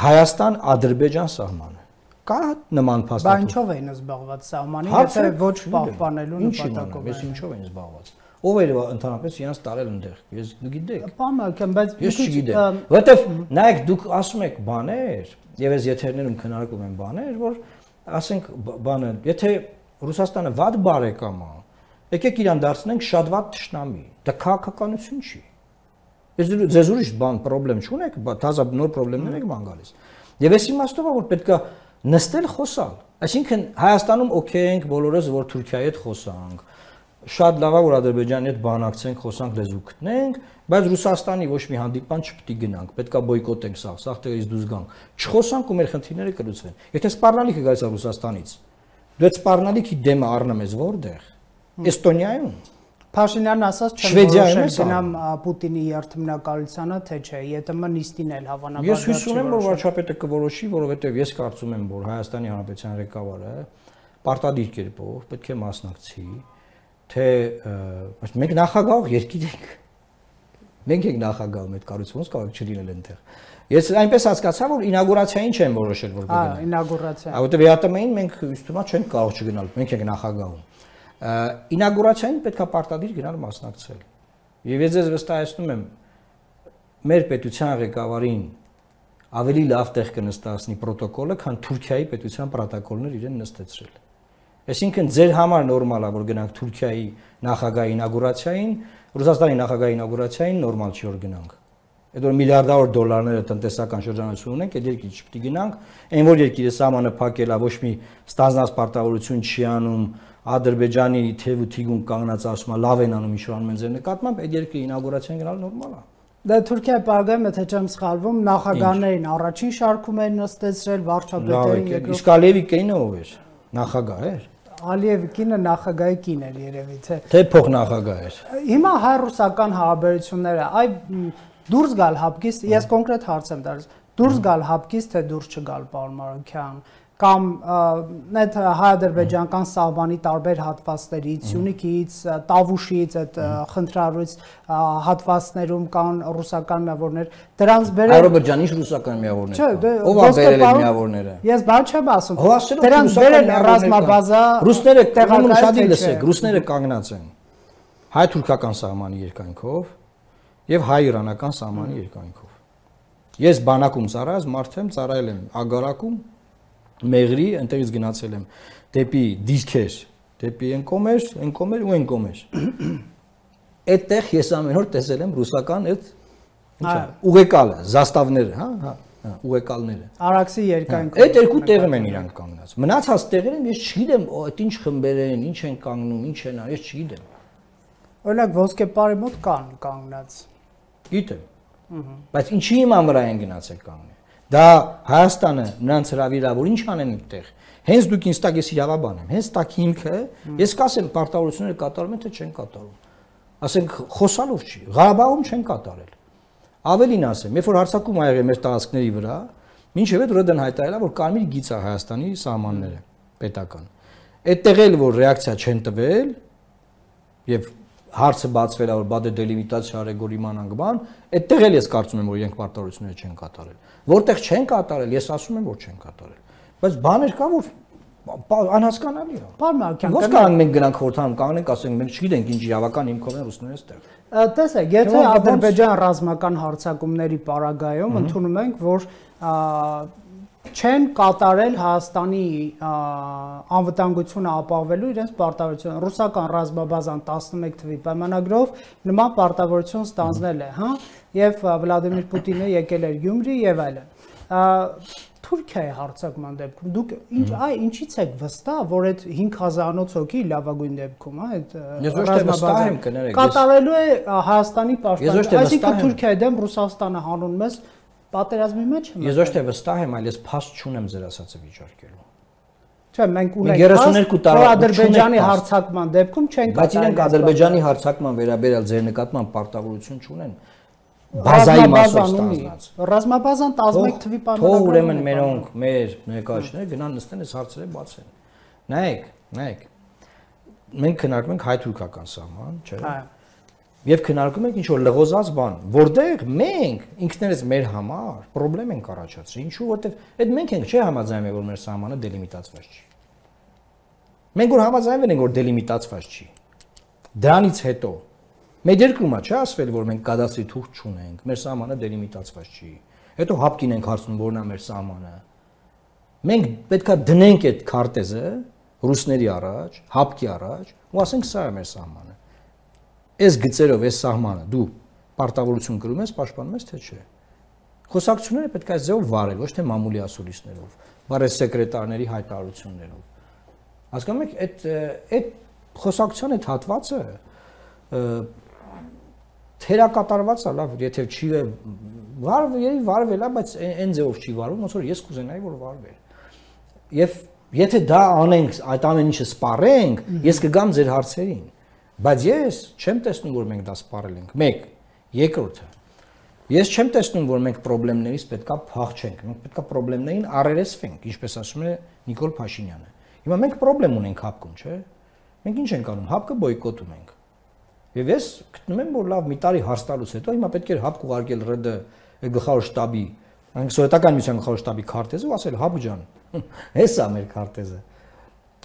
Հայաստան-Ադրբեջան սահմանը։ Կա նման փաստաթուղթ։ Բայց ինչով էին զբաղված սահմանի, եթե ոչ պահպանելու նպատակով։ Ես ինչով էին զբաղված։ Ով էր ընդհանրապես իրենց տարել այնտեղ։ Ես գիտեք։ Պամակ, բայց ես չգիտեմ։ Որտեվ նայեք, դուք ասում եք բաներ, եւ ես եթերներում քննարկում եմ բաներ, որ ասենք բանը, եթե Ռուսաստանը վատ բարեկամ է, եկեք իրան դարձնենք շատ վատ թշնամի։ Դա քաղաքականություն չի։ Ես ձեզ ուրիշ բան խնդրեմ չունեք, թազա նոր խնդիրներ եք բան գալիս։ Եվ այս իմաստով է որ պետքա նստել խոսալ։ Այսինքն Հայաստանում օքեյ ենք բոլորս որ Թուրքիայի հետ խոսանք։ Շատ լավ է որ Ադրբեջանի հետ բանակցենք, խոսանք, լեզու գտնենք, բայց Ռուսաստանի ոչ մի հանդիպան չպետք է գնանք, պետքա բոյկոտենք սա, սա տեղից դուրս գանք։ Չխոսանք ու մեր խնդիրները կլուծվեն։ Եթե սպառնալիքը գալիս է Ռուսաստանից, դու այդ սպառնալիքի դեմը առնում ես որտեղ։ Էստոնիայում։ Փաշինյանն ասաց չեմ որոշել գնամ Պուտինի երթմնակալությանը, թե չէ, ԵՏՄ նիստին էլ հավանաբար։ Ես հույս ունեմ, որ վարչապետը կորոշի, որովհետև ես կարծում եմ, որ Հայաստանի Հանրապետության ղեկավարը պարտադիր կերպով պետք է մասնակցի, թե մենք նախագահ երկիր ենք։ Մենք ենք նախագահում այդ կառույցը, ոնց կարող չլինել այնտեղ։ Ես այնպես հասկացա, որ ինագուրացիային չեն որոշել, որ կգնան։ Հա, ինագուրացիա։ Որովհետև ԵՏՄ-ին մենք ըստ ումա չենք կարող չգնալ, մենք ենք նախագահում։ Ինագուրացիային պետքա պարտադիր գնալ մասնակցել։ Եվ ես ձեզ վստահեցնում եմ, մեր պետության ղեկավարին ավելի լավ տեղ կնստացնի պրոտոկոլը, քան Թուրքիայի պետության պրոտոկոլներ իրեն նստեցրել։ Այսինքն ձեր համար նորմալ է, որ գնանք Թուրքիայի նախագահի ինագուրացիային, Ռուսաստանի նախագահի ինագուրացիային նորմալ չի որ գնանք։ Այդ որ միլիարդավոր դոլարները տնտեսական շրջանառություն ունենք, այդ երկիրը չպետք է գնանք, այն որ երկիրը սահմանը փակել է, ոչ մի ստանձնած պարտավորություն չի անում, Ադրբեջանի թև ու թիգուն կանգնած ասում է լավ են անում ինչ-որ անում են ձեր նկատմամբ, այդ երկրի ինագուրացիան գնալ նորմալ է։ Դա Թուրքիայի պարագայում, եթե չեմ սխալվում, նախագահներին առաջին շարքում են նստեցրել, վարչապետերին երկրորդ։ Իսկ Ալիևի կինը ով էր։ Նախագահ էր։ Ալիևի կինը նախագահի կին էր երևի, թե։ Թե փոխնախագահ էր։ Հիմա հայ-ռուսական հարաբերությունները, այ դուրս գալ հապկից, ես կոնկրետ հարց եմ տալիս, դուրս գալ հապկից, թե դուրս չգալ, պարոն Մարուքյան, կամ այդ հայ-ադրբեջանական սահմանի տարբեր հատվածներից, Սյունիքից, Տավուշից, այդ խնդրառույց հատվածներում կան ռուսական միավորներ, դրանց բերել Ադրբեջանի ռուսական միավորներ։ Ո՞վ է բերել այդ միավորները։ Ես բան չեմ ասում։ Դրանց բերել ռազմաբազա ռուսները տեղանում շատ լսեք, ռուսները կանգնած են հայ-թուրքական սահմանի երկայնքով եւ հայ-իրանական սահմանի երկայնքով։ Ես բանակում ծառայած մարդ եմ, ծառայել եմ Ագարակում, Մեղրի, այնտեղից գնացել եմ դեպի դիրքեր, դեպի այն կոմեր, այն կոմեր ու այն կոմեր։ Այդտեղ ես ամեն օր տեսել եմ ռուսական այդ ինչա, ուղեկալը, զաստավները, հա, հա, ուղեկալները։ Արաքսի երկայնքով։ Այդ երկու տեղում են իրանք կանգնած։ Մնացած տեղերում ես չգիտեմ, այդ ինչ խմբեր են, ինչ են կանգնում, ինչ են անում, ես չգիտեմ։ Օրինակ ոսկեպարի մոտ կան կանգնած։ Գիտեմ։ Բայց ինչի իման վրա են գնացել կանգնել։ Դա Հայաստանը նրանց հրավիրա, որ ինչ անեն այդտեղ։ Հենց դուք ինձ տակ ես իրավաբան եմ, հենց տակ հիմքը, ես կասեմ պարտավորությունները կատարում են թե չեն կատարում։ Ասենք խոսալով չի, Ղարաբաղում չեն կատարել։ Ավելին ասեմ, երբ որ հարձակում ա եղել մեր տարածքների վրա, մինչև այդ ՌԴ-ն հայտարարել է, որ կարմիր գիծ է Հայաստանի սահմանները պետական։ Այդտեղ էլ որ ռեակցիա չեն տվել եւ հարցը բացվել է որ բա դե դելիմիտացիա արեգոր իմանանք բան, այդտեղ էլ ես կարծում եմ որ իրենք պարտավորությունները չեն կատարել։ Որտեղ չեն կատարել, ես ասում եմ որ չեն կատարել։ Բայց բաներ կա որ անհասկանալի է։ Պարոն Մարուքյան, ո՞նց կարող մենք գնանք խորհրդանում կանգնենք, ասենք մենք չգիտենք ինչ իրավական հիմքով են ռուսները այստեղ։ Տեսեք, եթե Ադրբեջան ռազմական հարձակումների պարագայում ընդունում ենք, որ չեն կատարել Հայաստանի անվտանգությունը ապահովելու իրենց պարտավորությունը։ Ռուսական ռազմաբազան տասնմեկ թվականի պայմանագրով նման պարտավորություն ստանձնել է, հա, եւ Վլադիմիր Պուտինը եկել էր Գյումրի եւ այլն։ Թուրքիայի հարձակման դեպքում դուք ինչ այ ինչից եք վստահ, որ այդ հինգ հազարանոց հոգի լավագույն դեպքում, հա, այդ ռազմաբազան կատարելու է Հայաստանի պաշտպանությունը, այսինքն Թուրքիայի դեմ Ռուսաստանը հանուն մեզ պատերազմի մեջ եմ։ Ես ոչ թե վստահ եմ, այլ ես փաստ չունեմ ձեր ասածը վիճարկելու։ Չէ, մենք ունենք փաստ Ադրբեջանի հարձակման դեպքում չեն կատարել։ Բայց իրենք Ադրբեջանի հարձակման վերաբերյալ ձեր նկատմամբ պարտավորություն չունեն։ Բազայի մասով ստանձնած։ Ռազմաբազան տասնմեկ թվականի պայմանագրով։ Թող ուրեմն մերոնք, մեր ներկայացուցիչները գնան նստեն այս հարցերը բացեն։ Նայեք, նայեք։ Մենք քննարկում ենք հայ-թուրքական սահման, չէ՞։ Եվ քննարկում ենք ինչ-որ լղոզած բան, որտեղ մենք ինքներս մեր համար խնդրեմ ենք առաջացրել։ Ինչու, որտեղ այդ մենք ենք չէ համաձայնել, որ մեր սահմանը դելիմիտացված չի։ Մենք որ համաձայնվել ենք, որ դելիմիտացված չի։ Դրանից հետո մեր երկրում է չէ ասվել, որ մենք կադաստրի թուղթ չունենք, մեր սահմանը դելիմիտացված չի։ Հետո հապկին ենք հարցնում, որն է մեր սահմանը։ Մենք պետքա դնենք այդ քարտեզը ռուսների առաջ, հապկի առաջ, ու ասենք սա է մեր սահմանը։ Այս գծերով, այս սահմանը դու պարտավորություն կրում ես, պաշտպանում ես, թե չէ։ Խոսակցությունները պետք է այս ձևով վարել, ոչ թե մամուլի ասուլիսներով, բարես սեկրետարների հայտարարություններով։ Հասկանում եք, այդ այդ խոսակցության այդ հատվածը թերակատարված է, լավ, եթե չի վարվել, վարվել է, բայց այն ձևով չի վարվում, ոնց որ ես կուզենայի, որ վարվեր։ Եվ եթե դա անենք, այդ ամեն ինչը սպառենք, ես կգամ ձեր հարցերին։ Բայց ես չեմ տեսնում, որ մենք դա սպառել ենք։ մեկ, երկրորդը։ Ես չեմ տեսնում, որ մենք խնդիրներից պետքա փախչենք։ Մենք պետքա խնդիրներին առերեսվենք, ինչպես ասում է Նիկոլ Փաշինյանը։ Հիմա մենք խնդրեմ ունենք հապկում, չէ՞։ Մենք ինչ ենք անում, հապկը բոյկոտում ենք։ Եվ ես գտնում եմ, որ լավ մի տարի հարց տալուց հետո հիմա պետք է հապկ ուղարկել ՌԴ գլխավոր շտաբի, այնք սովետական միության գլխավոր շտաբի քարտեզը ու ասել հապ ջան, հեսա մեր քարտեզը։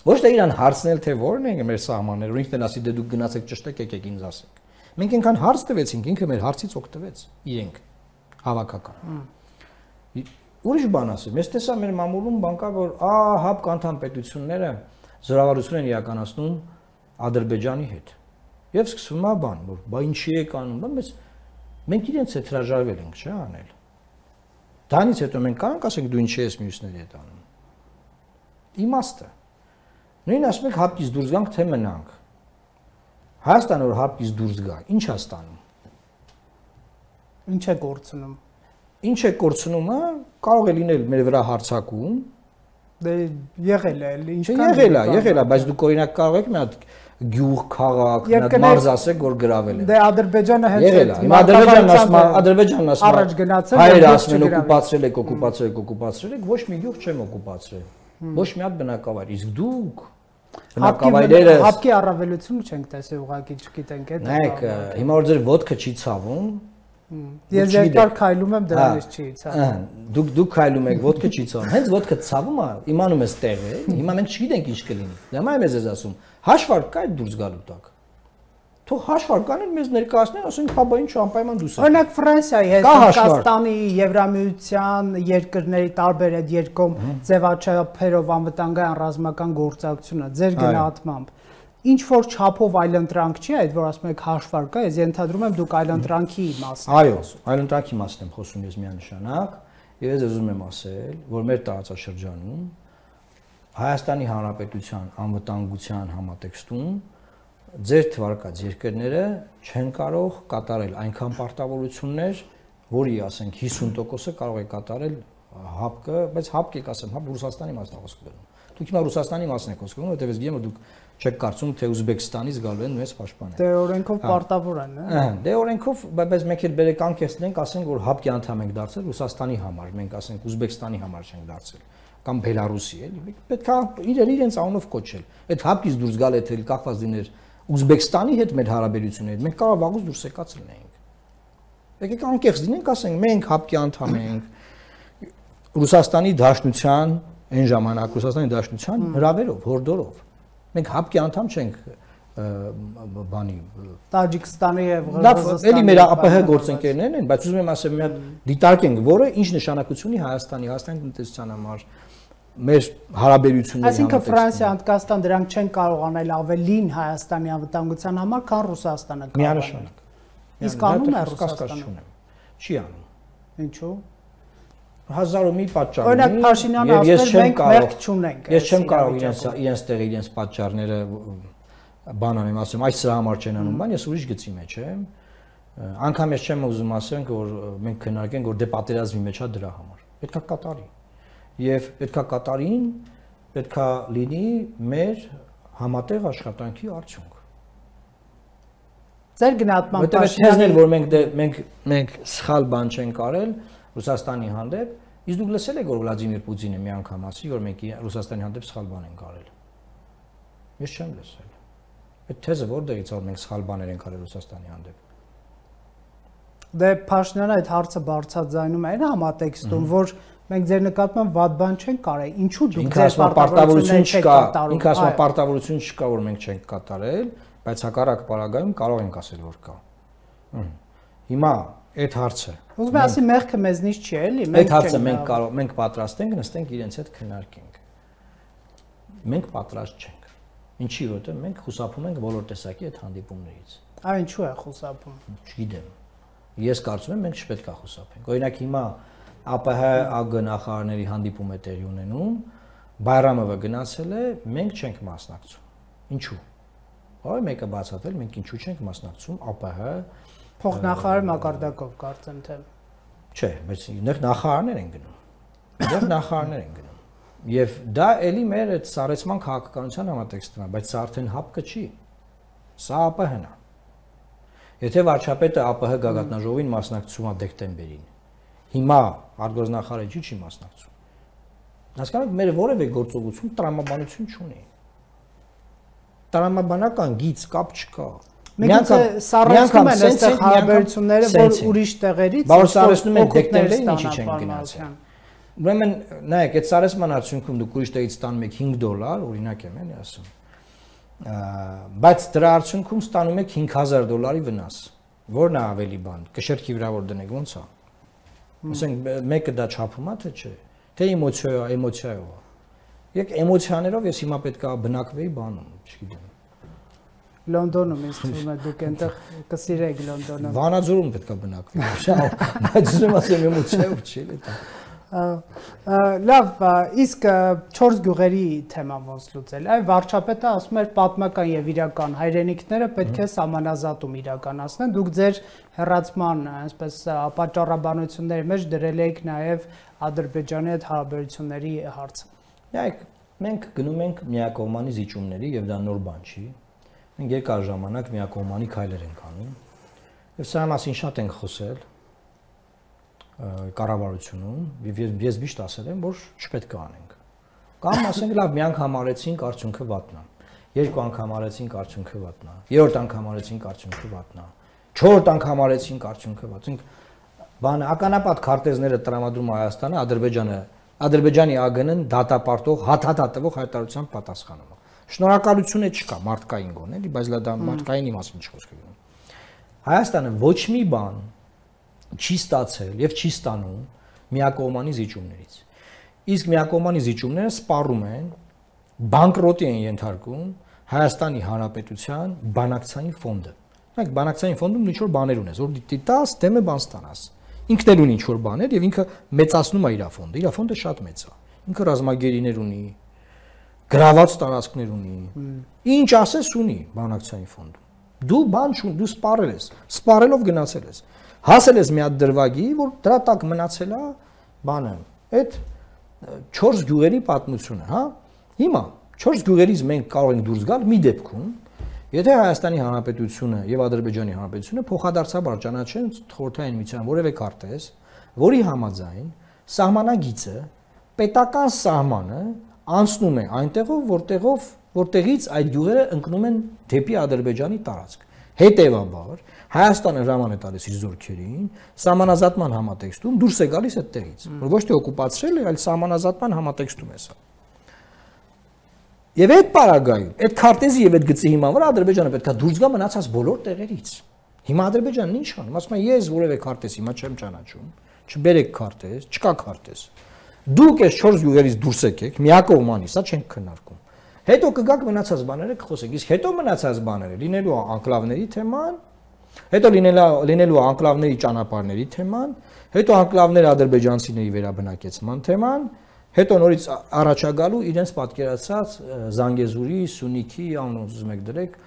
Ոչ թե իրան հարցնել, թե որն են մեր սահմանները, ու ինքն էլ ասի դե դուք գնացեք ճշտեք, եկեք ինձ ասեք։ Մենք այնքան հարց տվեցինք, ինքը մեր հարցից օգտվեց, իրենք հավաքական։ Ուրիշ բան ասեմ, ես տեսա մեր մամուլում բան կա, որ ա հապկ անդամ պետությունները զորավարություն են իրականացնում Ադրբեջանի հետ։ Եվ սկսվում է բան, որ բա ինչի է կանում, բայց մենք իրենց հետ հրաժարվել ենք, չէ՞ անել։ Դրանից հետո մենք կարող ասենք դու ինչի ես մյուսների հետ անում։ Իմաստը։ Նույն ասում եք հապկից դուրս գանք, թե մնանք։ Հայաստանը որ հապկից դուրս գա, ինչ է ստանում։ Ինչ է կորցնում։ Ինչ է կորցնումը, կարող է լինել մեր վրա հարձակում։ Դե եղել է, ինչքան եղել է, եղել է, բայց դուք օրինակ կարող եք մի հատ գյուղ, քաղաք, մի հատ մարզ ասեք, որ գրավել են։ Դե Ադրբեջանը հենց եղել է։ Հիմա Ադրբեջանն ասում է, Ադրբեջանն ասում է, առաջ գնացել, հայերը ասում են օկուպացրել եք, օկուպացրել եք, օկուպացրել եք, ոչ մի գյուղ չեմ օկուպացրել։ Ոչ մի հատ բնակավայր, իսկ դուք բնակավայրերը հապկի առավելությունը չենք տեսել, ուղղակի չգիտենք այդ։ Նայեք, հիմա որ ձեր ոդկը չի ցավում, ես երկար քայլում եմ դրանից չի ցավում։ Դուք դուք քայլում եք, ոդկը չի ցավում։ Հենց ոդկը ցավում է, իմանում ես տեղը, հիմա մենք չգիտենք ինչ կլինի։ Դե մայ մեզ ես ասում, հաշվարկ կա այդ դուրս գալու տակ։ Թող հաշվարկանեն մեզ ներկայացնեն, ասենք, հա բա ինչ անպայման դուրս։ Օրինակ Ֆրանսիայի հետ, Հնդկաստանի, Եվրամիության երկրների տարբեր այդ երկում ձևաչափերով անվտանգային ռազմական գործակցությունը ձեր գնահատմամբ ինչ որ չափով այլընտրանք չի այդ, որ ասում եք հաշվարկ կա, ես ենթադրում եմ դուք այլընտրանքի մասն եք։ Այո, այլընտրանքի մասն եմ խոսում ես միանշանակ, եւ ես ուզում եմ ասել, որ մեր տարածաշրջանում Հայաստանի Հանրապետության անվտանգության համատեքստում ձեր թվարկած երկրները չեն կարող կատարել այնքան պարտավորություններ, որի ասենք հիսուն տոկոսը կարող է կատարել հապկը, բայց հապկ եք ասեմ, հապ Ռուսաստանի մասն է խոսքը գնում։ Դուք հիմա Ռուսաստանի մասն եք խոսքը գնում, որովհետև ես գիտեմ, որ դուք չեք կարծում, թե Ուզբեկստանից գալու են մեզ պաշտպանել։ Դե օրենքով պարտավոր են, հա։ Դե օրենքով, բայց մենք էլ բերեք անկեղծենք, ասենք, որ հապկի անդամ ենք դարձել Ռուսաստանի համար, մենք ասենք Ուզբեկստանի համար չենք դարձել, կամ Բելարուսի, էլի։ Պետք է իրեր իրենց անունով կոչել։ Այդ հապկից դուրս գալ եթե կախված լիներ Ուզբեկստանի հետ մեր հարաբերությունները, մենք կարող վաղուց դուրս եկած լինեինք։ Եկեք անկեղծ լինենք, ասենք, մենք հապկի անդամ ենք Ռուսաստանի Դաշնության, այն ժամանակ Ռուսաստանի Դաշնության հրավերով, հորդորով։ Մենք հապկի անդամ չենք բանի Տաջիկստանի եւ Ղրղըզստանի։ Էլի մեր ԱՊՀ գործընկերներն են, բայց ուզում եմ ասեմ, մի հատ դիտարկենք, որը ինչ նշանակություն ունի Հայաստանի, Հայաստանի տնտեսության համար, մեր հարաբերությունների համար։ Այսինքն Ֆրանսիա, Հնդկաստան դրանք չեն կարող անել ավելին Հայաստանի անվտանգության համար, քան Ռուսաստանը կարող։ Միանշանակ։ Իսկ անում է Ռուսաստանը։ Չի անում։ Ինչու՞։ Հազար ու մի պատճառ ունի։ Օրինակ Փաշինյանը ասում է մենք մեղք չունենք։ Ես չեմ կարող իրենց իրենց տեղ իրենց պատճառները բան անեմ, ասեմ, այս սրա համար չեն անում, բան, ես ուրիշ գծի մեջ եմ։ Անկամ ես չեմ ուզում ասենք, որ մենք քննարկենք, որ դե պատերազմի մեջ է դրա համար։ Պետքա կատարի։ Եվ պետքա կատարին, պետքա լինի մեր համատեղ աշխատանքի արդյունք։ Ձեր գնահատման Փաշինյանն որ մենք մենք մենք սխալ բան չենք արել Ռուսաստանի հանդեպ, իսկ դուք լսել եք որ Վլադիմիր Պուտինը մի անգամ ասի, որ մենք Ռուսաստանի հանդեպ սխալ բան ենք արել։ Ես չեմ լսել։ Այդ թեզը որտեղից որ մենք սխալ բաներ ենք արել Ռուսաստանի հանդեպ։ Դե Փաշինյանը այդ հարցը բարձրաձայնում է այն համատեքստում, որ մենք ձեր նկատմամբ վատ բան չենք կարել, ինչու դուք ձեր պարտավորությունները չեք կատարում։ Ինքը ասում է պարտավորություն չկա, որ մենք չենք կատարել, բայց հակառակ պարագայում կարող ենք ասել, որ կա։ Հիմա այդ հարցը։ Ուզում եմ ասի մեղքը մեզնից չի, էլի, մենք այդ հարցը մենք կարող մենք պատրաստ ենք նստենք իրենց հետ քննարկենք։ Մենք պատրաստ չենք։ Ինչի որտեղ մենք խուսափում ենք բոլոր տեսակի այդ հանդիպումներից։ Այ ինչու է խուսափում։ Չգիտեմ։ Ես կարծում եմ մենք չպետք է խուսափենք։ Օրինակ հիմա ԱՊՀ ԱԳ նախարարների հանդիպում է տեղի ունենում, Բայրամովը գնացել է, մենք չենք մասնակցում։ Ինչու՞։ Այո, մեկը բացատրել, մենք ինչու չենք մասնակցում ԱՊՀ փոխնախարար մակարդակով կարծեմ թե։ Չէ, բայց նեղ նախարարներ են գնում։ Նեղ նախարարներ են գնում։ Եվ դա էլի մեր այդ սառեցման քաղաքականության համատեքստն է, բայց սա արդեն հապկը չի։ Սա ԱՊՀ-ն է։ Եթե վարչապետը ԱՊՀ գագաթնաժողովին մասնակցում է դեկտեմբերին, հիմա արտգործնախարարը չի մասնակցում։ Հասկանաք, մեր որևէ գործողություն տրամաբանություն չունի։ Տրամաբանական գիծ կապ չկա։ Մենք սառեցնում են այստեղ հարաբերությունները, որ ուրիշ տեղերից բաղ սառեցնում են դեկտեմբերին ինչի չեն գնացել։ Ուրեմն, նայեք, այդ սառեցման արդյունքում դուք ուրիշ տեղից ստանում եք հինգ դոլար, օրինակ եմ էլի ասում։ Բայց դրա արդյունքում ստանում եք հինգ հազար դոլարի վնաս։ Որն է ավելի բան, կշերքի վրա որ դնեք, ո՞նց է։ Ասենք մեկը դա չափում է, թե չէ։ Թե էմոցիա, էմոցիայով է։ Եկ էմոցիաներով ես հիմա պետք է բնակվեի բանում, չգիտեմ։ Լոնդոնում ինձ թվում է դուք այնտեղ կսիրեք Լոնդոնը։ Վանաձորում պետք է բնակվի։ Բայց ուզում ասեմ էմոցիայով չի էլի դա։ Լավ, իսկ չորս գյուղերի թեման ոնց լուծել։ Այ վարչապետը ասում էր պատմական եւ իրական հայրենիքները պետք է սահմանազատում իրականացնեն։ Դուք ձեր հեռացման, այսպես պատճառաբանությունների մեջ դրել եք նաեւ Ադրբեջանի հետ հարաբերությունների հարցը։ Նայեք, մենք գնում ենք միակողմանի զիջումների եւ դա նոր բան չի։ Մենք երկար ժամանակ միակողմանի քայլեր ենք անում։ Եվ սա մասին շատ ենք խոսել կառավարությունում, եւ ես միշտ ասել եմ, որ չպետք է անենք։ Կամ ասենք լավ, մի անգամ արեցինք, արդյունքը վատնա։ Երկու անգամ արեցինք, արդյունքը վատնա։ Երրորդ անգամ արեցինք, արդյունքը վատնա։ Չորրորդ անգամ արեցինք, արդյունքը վատնա։ Բանը ականապատ քարտեզները տրամադրում Հայաստանը, Ադրբեջանը, Ադրբեջանի ԱԳՆ-ն դատապարտող, հաթաթատվող հայտարարությամբ պատասխանում է։ Շնորհակալություն է չկա, մարդկային գոն էլի, բայց դա մարդկայինի մասին չխոսք է գնում։ Հայաստանը ոչ մի բան չի ստացել եւ չի ստանում միակողմանի զիջումներից։ Իսկ միակողմանի զիջումները սպառում են, բանկրոտի են ենթարկում Հայաստանի Հանրապետության բանակցային ֆոնդը։ Մենք բանակցային ֆոնդում ինչ որ բաներ ունես, որ դիտաս դեմը բան ստանաս։ Ինքն էլ ունի ինչ որ բաներ եւ ինքը մեծացնում է իր ֆոնդը։ Իր ֆոնդը շատ մեծ է։ Ինքը ռազմագերիներ ունի, գրաված տարածքներ ունի։ Ինչ ասես ունի բանակցային ֆոնդում։ Դու բան չուն, դու սպառել ես, սպառելով գնացել ես։ Հասել ես մի հատ դրվագի, որ դրա տակ մնացել է բանը, այդ չորս գյուղերի պատմությունը, հա։ Հիմա չորս գյուղերից մենք կարող ենք դուրս գալ մի դեպքում, եթե Հայաստանի Հանրապետությունը եւ Ադրբեջանի Հանրապետությունը փոխադարձաբար ճանաչեն խորհրդային միության որևէ քարտեզ, որի համաձայն սահմանագիծը պետական սահմանը անցնում է այնտեղով, որտեղով որտեղից այդ գյուղերը ընկնում են դեպի Ադրբեջանի տարածք։ Հետևաբար Հայաստանը հրաման է տալիս իր զորքերին սահմանազատման համատեքստում դուրս է գալիս այդտեղից, որ ոչ թե օկուպացրել է, այլ սահմանազատման համատեքստում է սա։ Եվ այդ պարագայում, այդ քարտեզի եւ այդ գծի հիման վրա Ադրբեջանը պետք է դուրս գա մնացած բոլոր տեղերից։ Հիմա Ադրբեջանն ինչ անում, ասում է ես որևէ քարտեզ հիմա չեմ ճանաչում, չբերեք քարտեզ, չկա քարտեզ։ Դուք այս չորս գյուղերից դուրս եկեք, միակողմանի, սա չենք քննարկում։ Հետո կգաք մնացած բաները կխոսեք, իսկ հետո մնացած բաները լինելու անկլավների թեման, հետո լինելու անկլավների ճանապարհների թեման, հետո անկլավներ ադրբեջանցիների վերաբնակեցման թեման, հետո նորից առաջագալու իրենց պատկերացած Զանգեզուրի, Սյունիքի, անոնց ուզում եք դրեք,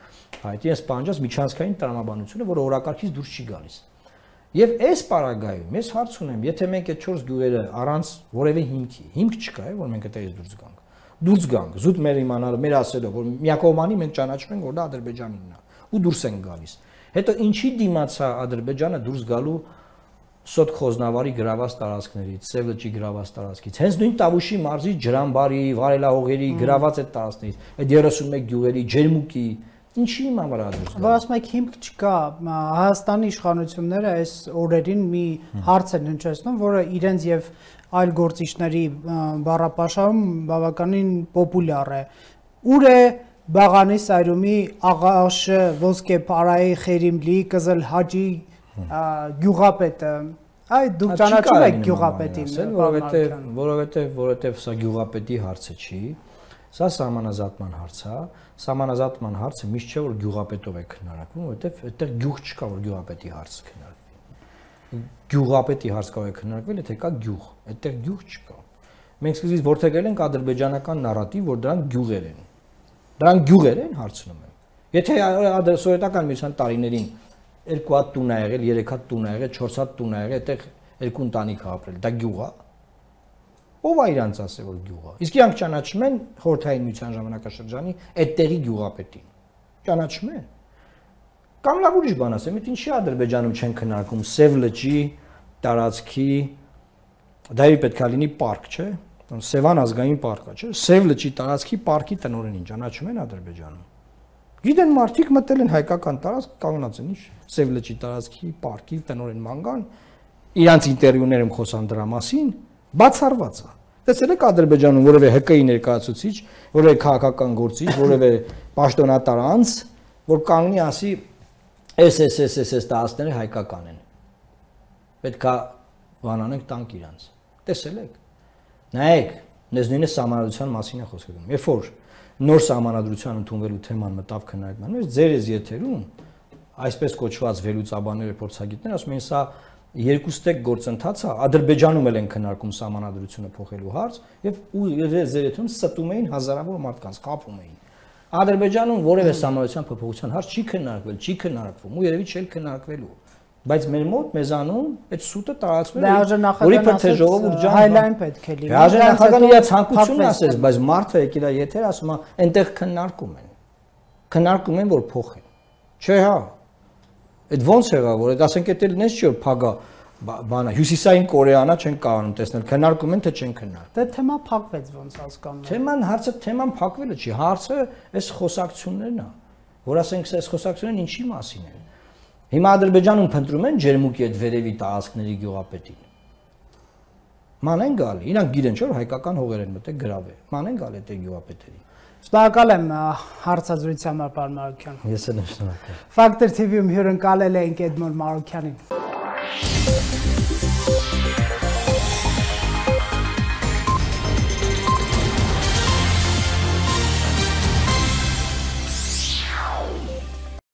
այդ իրենց պահանջած միջանցքային տրամաբանությունը, որը օրակարգից դուրս չի գալիս։ Եվ այս պարագայում ես հարց ունեմ, եթե մենք այդ չորս գյուղերը առանց որևէ հիմքի, հիմք չկա, որ մենք այդտեղից դուրս գանք։ Դուրս գանք, զուտ մեր իմանալը, մեր ասելով, որ միակողմանի մենք ճանաչում ենք, որ դա Ադրբեջանինն է, ու դուրս են գալիս։ Հետո ինչի դիմացա Ադրբեջանը դուրս գալու Սոտ Խոզնավարի գրաված տարածքներից, Սև լճի գրաված տարածքից, հենց նույն Տավուշի մարզի Ջրամբարի, Վարելահողերի գրաված այդ տարածքներից, այդ երեսունմեկ գյուղերի, Ջերմուկի, ինչի իման վրա դուրս գալու։ Որ ասում եք հիմք չկա, Հայաստանի իշխանությունները այս օրերին մի հարց են հնչեցնում, որը իրենց եւ այլ գործիչների բառապաշարում բավականին պոպուլյար է։ Ուր է Բաղանի Սայրումի Աղաշը ոսկե Փարայի Խերիմլի Կզել Հաջի գյուղապետը։ Այ դուք ճանաչում եք գյուղապետին, որովհետեւ որովհետեւ որովհետեւ սա գյուղապետի հարցը չի, սա սահմանազատման հարց է։ Սահմանազատման հարցը միշտ չէ որ գյուղապետով է քննարկվում, որովհետեւ այդտեղ գյուղ չկա որ գյուղապետի հարց քննարկվի։ Գյուղապետի հարց կարող է քննարկվել, եթե կա գյուղ, այդտեղ գյուղ չկա։ Մենք սկզբից որդեգրել ենք ադրբեջանական նարատիվ, որ դրանք գյուղեր են։ Դրանք գյուղեր են, հարցնում եմ։ Եթե սովետական միության տարիներին երկու հատ տուն ա եղել, երեք հատ տուն ա եղել, չորս հատ տուն ա եղել, այդտեղ երկու ընտանիք ա ապրել, դա գյուղ է։ Ով է իրանց ասել որ գյուղ է։ Իսկ իրանք ճանաչում են խորհրդային միության ժամանակաշրջանի այդտեղի գյուղապետին։ Ճանաչում են։ Կամ լավ ուրիշ բան ասեմ, այդ ինչի Ադրբեջանում չեն քննարկում Սև լճի տարածքի դա իր պետք է լինի պարկ, չէ՞։ Սևան ազգային պարկա, չէ՞։ Սև լճի տարածքի պարկի տնօրենին ճանաչում են Ադրբեջանում։ Գիտեն մարդիկ մտել են հայկական տարածք, կանգնած են ինչ Սև լճի տարածքի պարկի տնօրեն մանգան, իրանց ինտերվյուներում խոսան դրա մասին, բացառված է։ Տեսել եք Ադրբեջանում որևէ Հ Կ I ներկայացուցիչ, որևէ քաղաքական գործիչ, որևէ պաշտոնատար անձ, որ կանգնի ասի էս էս էս էս էս տարածքները հայկական են։ Պետք է բանանենք տանք իրանց։ Տեսել եք։ Նայեք, դες նույնը սահմանադրության մասին է խոսքը գնում։ Երբ որ նոր սահմանադրության ընդունվելու թեման մտավ քննարկման մեջ, ձեր էս եթերում այսպես կոչված վերլուծաբանները, փորձագետներ ասում են, սա երկուստեք գործընթաց է, Ադրբեջանում էլ են քննարկում սահմանադրությունը փոխելու հարց եւ ձեր եթերում ստում էին հազարավոր մարդկանց, խափում էին։ Ադրբեջանում որևէ սահմանադրության փոփոխության հարց չի քննարկվել, չի քննարկվում ու երևի չէ քննարկվելու։ Բայց մեր մոտ մեզանում այդ սուտը տարածվել է, որի պետք է ժողովուրդ ջան հայլայն պետք է լինի։ Հաջող նախագահան իր ցանկությունն ասես, բայց մարդը եկել է եթեր ասում է, այնտեղ քննարկում են։ Քննարկում են, որ փոխեն։ Չէ, հա։ Այդ ո՞նց եղավ, որ այդ ասենք էդ էլ նես չի որ փագա բանա հյուսիսային Կորեանա չեն կարողանում տեսնել, քննարկում են թե չեն քննարկում։ Դե թեմա փակվեց ոնց հասկանում եմ։ Թեման հարցը թեման փակվելը չի, հարցը այս խոսակցություններն է, որ ասենք այս խոսակցություններն ինչի մասին են։ Հիմա Ադրբեջանում փնտրում են ջերմուկի այդ վերևի տարածքների գյուղապետին։ Ման են գալի, իրանք գիտեն չէ՞ որ հայկական հողեր են մտել գրավել։ Ման են գալի այդ գյուղապետերին։ Շնորհակալ եմ հարցազրույցի համար, պարոն Մարուկյան։ Ես էլ եմ շնորհակալ։ Factor T V-ում հյուրընկալել ենք Էդմոն Մարուկյանին։